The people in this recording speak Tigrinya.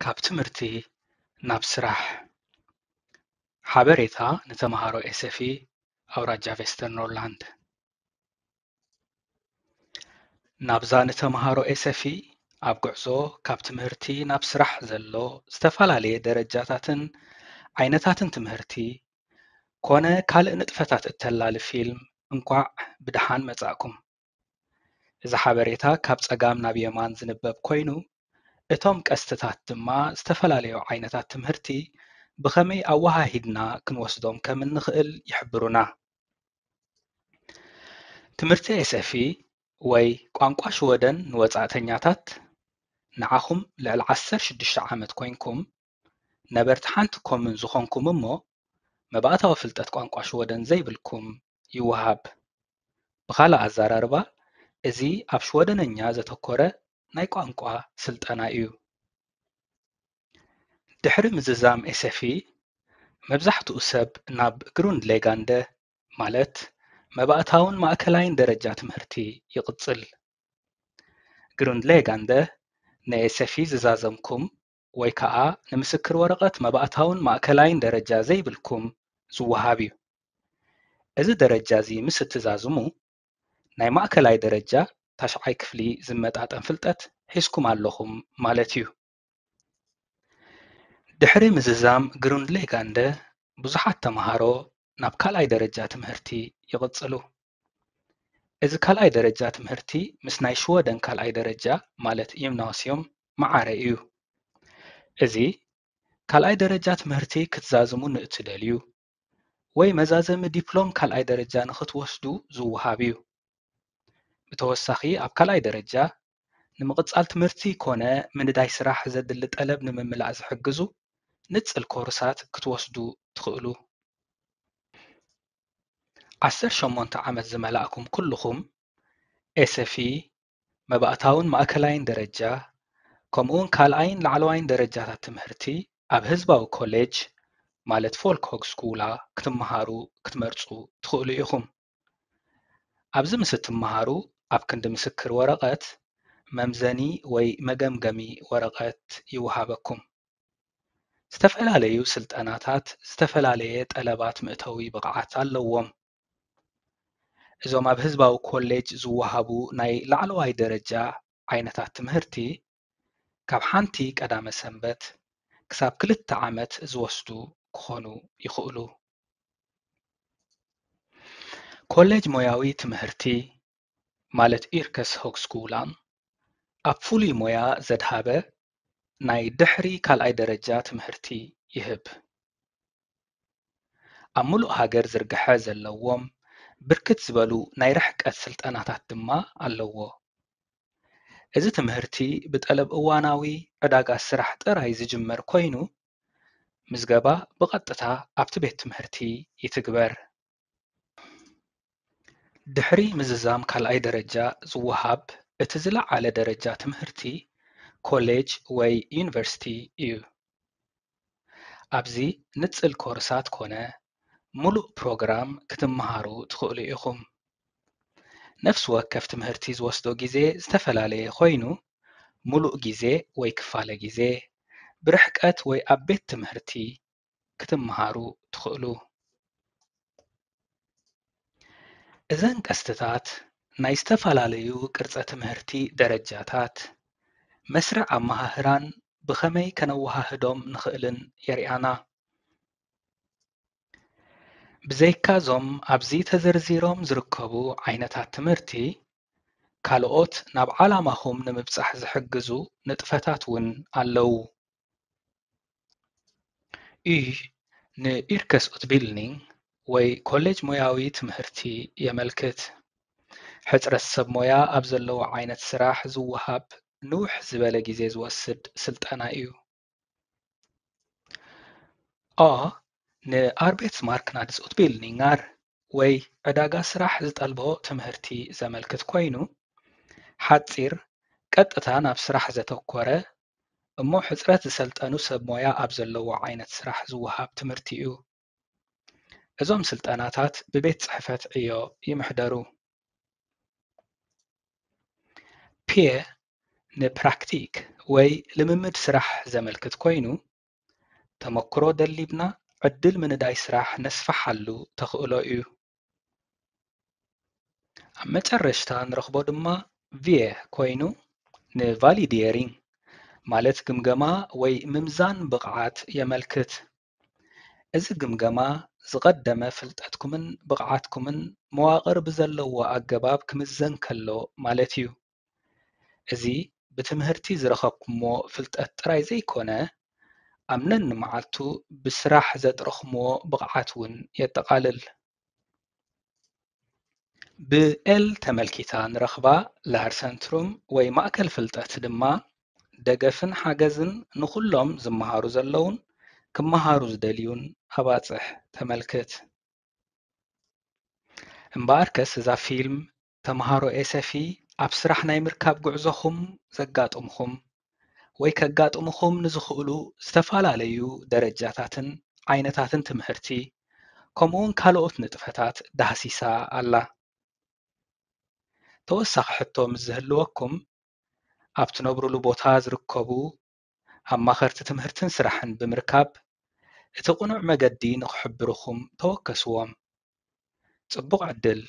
ካብ ትምህርቲ ናብ ስራሕ። ሓበሬታ ንተምሃሮ ኤሰፊ ኣውራጃ ቬስተርኖርላንድ። ናብዛ ንተምሃሮ ኤሰፊ ኣብ ጉዕዞ ካብ ትምህርቲ ናብ ስራሕ ዘሎ ዝተፈላለየ ደረጃታትን ዓይነታትን ትምህርቲ ኮነ ካልእ ንጥፈታት እተላልፍ ፊልም እንኳዕ ብደሓን መጻእኩም። እዚ ሓበሬታ ካብ ጸጋም ናብ የማን ዝንበብ ኮይኑ፣ እቶም ቀስትታት ድማ ዝተፈላለዩ ዓይነታት ትምህርቲ ብኸመይ ኣወሃሂድና ክንወስዶም ከም እንኽእል ይሕብሩና። ትምህርቲ ኤሰፊ ወይ ቋንቋ ሽወደን ንወጻእተኛታት፣ ንዓኹም ልዕሊ ዓሰርተ ሽዱሽተ ዓመት ኮይንኩም ነበርቲ ሓንቲ ኮሙን ዝኾንኩም እሞ መባእታዊ ፍልጠት ቋንቋ ሽወደን ዘይብልኩም ይወሃብ። ብኻልእ ኣዘራርባ፣ እዚ ኣብ ሽወደነኛ ዘተኮረ ናይ ቋንቋ ስልጠና እዩ። ድሕሪ ምዝዛም ኤሰፊ፣ መብዛሕትኡ ሰብ ናብ ግሩንድሌጋንደ፣ ማለት መባእታውን ማእከላይን ደረጃ ትምህርቲ ይቕጽል። ግሩንድሌጋንደ ንኤሰፊ ዝዛዘምኩም ወይ ከኣ ንምስክር ወረቐት መባእታውን ማእከላይን ደረጃ ዘይብልኩም ዝወሃብ እዩ። እዚ ደረጃ እዚ ምስ እትዛዝሙ፣ ናይ ማእከላይ ደረጃ ታሽዓይ ክፍሊ ዝመጣጠን ፍልጠት ሒዝኩም ኣለኹም ማለት እዩ። ድሕሪ ምዝዛም ግሩንድሌጋንደ፣ ብዙሓት ተምሃሮ ናብ ካልኣይ ደረጃ ትምህርቲ ይቕጽሉ። እዚ ካልኣይ ደረጃ ትምህርቲ ምስ ናይ ሽወደን ካልኣይ ደረጃ ማለት ጂምናስዮም መዓረ እዩ። እዚ ካልኣይ ደረጃ ትምህርቲ ክትዛዝሙ ንእትደልዩ ወይ መዛዘሚ ዲፕሎም ካልኣይ ደረጃ ንኽትወስዱ ዝወሃብ እዩ። ብተወሳኺ ኣብ ካልኣይ ደረጃ ንምቕጻል ትምህርቲ ኮነ ምንዳይ ስራሕ ዘድሊ ጠለብ ንምምላእ ዝሕግዙ ንጽል ኮርሳት ክትወስዱ ትኽእሉ። ዓሰርተ ሸሞንተ ዓመት ዝመላእኩም ኩልኹም ኤሰፊ፣ መባእታውን ማእከላይን ደረጃ፣ ከምኡውን ካልኣይን ላዕለዋይን ደረጃታት ትምህርቲ ኣብ ህዝባዊ ኮሌጅ፣ ማለት ፎልክሆግስኩላ፣ ክትመሃሩ ክትመርጹ ትኽእሉ ኢኹም። ኣብዚ ምስ እትመሃሩ፣ ኣብ ክንዲ ምስክር ወረቐት፣ መምዘኒ ወይ መገምገሚ ወረቐት ይወሃበኩም። ዝተፈላለዩ ስልጠናታት ዝተፈላለየ ጠለባት መእተዊ ብቕዓት ኣለዎም። እዞም ኣብ ህዝባዊ ኮሌጅ ዝወሃቡ ናይ ላዕለዋይ ደረጃ ዓይነታት ትምህርቲ፣ ካብ ሓንቲ ቀዳመ ሰንበት ክሳብ ክልተ ዓመት ዝወስዱ ክኾኑ ይኽእሉ። ኮሌጅ ሞያዊ ትምህርቲ፣ ማለት ኢርከስ ሆግስኩላን፣ ኣብ ፍሉይ ሞያ ዘድሃበ ናይ ድሕሪ ካልኣይ ደረጃ ትምህርቲ ይህብ። ኣብ ምሉእ ሃገር ዝርግሐ ዘለዎም ብርክት ዝበሉ ናይ ርሕቀት ስልጠናታት ድማ ኣለዎ። እዚ ትምህርቲ ብጠለብ እዋናዊ ዕዳጋ ስራሕ ጥራይ ዝጅመር ኮይኑ፣ ምዝገባ ብቐጥታ ኣብቲ ቤት ትምህርቲ ይትግበር። ድሕሪ ምዝዛም ካልኣይ ደረጃ ዝወሃብ እቲ ዝለዓለ ደረጃ ትምህርቲ ኮሌጅ ወይ ዩኒቨርሲቲ እዩ። ኣብዚ ንጽል ኮርሳት ኮነ ምሉእ ፕሮግራም ክትመሃሩ ትኽእሉ ኢኹም። ነፍሲ ወከፍ ትምህርቲ ዝወስዶ ግዜ ዝተፈላለየ ኮይኑ፣ ምሉእ ግዜ ወይ ክፋለ ግዜ፣ ብርሕቀት ወይ ኣብ ቤት ትምህርቲ ክትመሃሩ ትኽእሉ። እዘን ቀስትታት ናይ ዝተፈላለዩ ቅርጸ ትምህርቲ ደረጃታት፣ መስርዕ ኣመሃህራን ብኸመይ ከነወሃህዶም ንኽእልን የርእያና። ብዘይካዞም ኣብዚ ተዘርዚሮም ዝርከቡ ዓይነታት ትምህርቲ፣ ካልኦት ናብ ዓላማኹም ንምብጻሕ ዝሕግዙ ንጥፈታት እውን ኣለዉ። ዩ ንኢርከስ ኡትቢልኒንግ ወይ ኮሌጅ ሞያዊ ትምህርቲ የመልክት። ሕጽረት ሰብ ሞያ ኣብ ዘለዎ ዓይነት ስራሕ ዝወሃብ ንውሕ ዝበለ ግዜ ዝወስድ ስልጠና እዩ። ኦ ንኣርቤትስማርክናድስ ኡትቢልኒንጋር ወይ ዕዳጋ ስራሕ ዝጠልቦ ትምህርቲ ዘመልክት ኮይኑ፣ ሓጺር፣ ቀጥታ ናብ ስራሕ ዘተኮረ፣ እሞ ሕጽረት ዝሰልጠኑ ሰብ ሞያ ኣብ ዘለዎ ዓይነት ስራሕ ዝወሃብ ትምህርቲ እዩ። እዞም ስልጠናታት ብቤት ጽሕፈት ዕዮ ይምሕደሩ። ፒየ ንፕራክቲክ ወይ ልምምድ ስራሕ ዘመልክት ኮይኑ፣ ተመክሮ ደሊብና ዕድል ምንዳይ ስራሕ ነስፍሓሉ ተኽእሎ እዩ። ኣብ መጨረሽታ ንረኽቦ ድማ ቪየ ኮይኑ ንቫሊዲየሪንግ ማለት ግምገማ ወይ ምምዛን ብቕዓት የመልክት። እዚ ግምገማ ዝቐደመ ፍልጠትኩምን ብቕዓትኩምን መዋቕር ብዘለዎ ኣገባብ ክምዘን ከሎ ማለት እዩ። እዚ ብትምህርቲ ዝረኸብኩምዎ ፍልጠት ጥራይ ዘይኮነ፣ ኣብ ነንመዓልቱ ብስራሕ ዘጥረኽምዎ ብቕዓት እውን የጠቓልል። ብኤል ተመልኪታ ንረኽባ ላርሰንትሩም ወይ ማእከል ፍልጠት ድማ ደገፍን ሓገዝን ንኹሎም ዝመሃሩ ዘለውን ክመሃሩ ዝደልዩን ኣባጽሕ ተመልክት። እምበኣርከስ እዛ ፊልም ተምሃሮ ኤሰፊ ኣብ ስራሕ ናይ ምርካብ ጉዕዞኹም ዘጋጥምኹም ወይ ከጋጥምኹም ንዝኽእሉ ዝተፈላለዩ ደረጃታትን ዓይነታትን ትምህርቲ ከምኡውን ካልኦት ንጥፈታት ዳህሲሳ ኣላ። ተወሳኺ ሕቶ ምስ ዝህልወኩም ኣብ ትነብሩሉ ቦታ ዝርከቡ ኣማኸርቲ ትምህርትን ስራሕን ብምርካብ እቲ ቅኑዕ መገዲ ንኽሕብርኹም ተወከስዎም። ጽቡቕ ዕድል!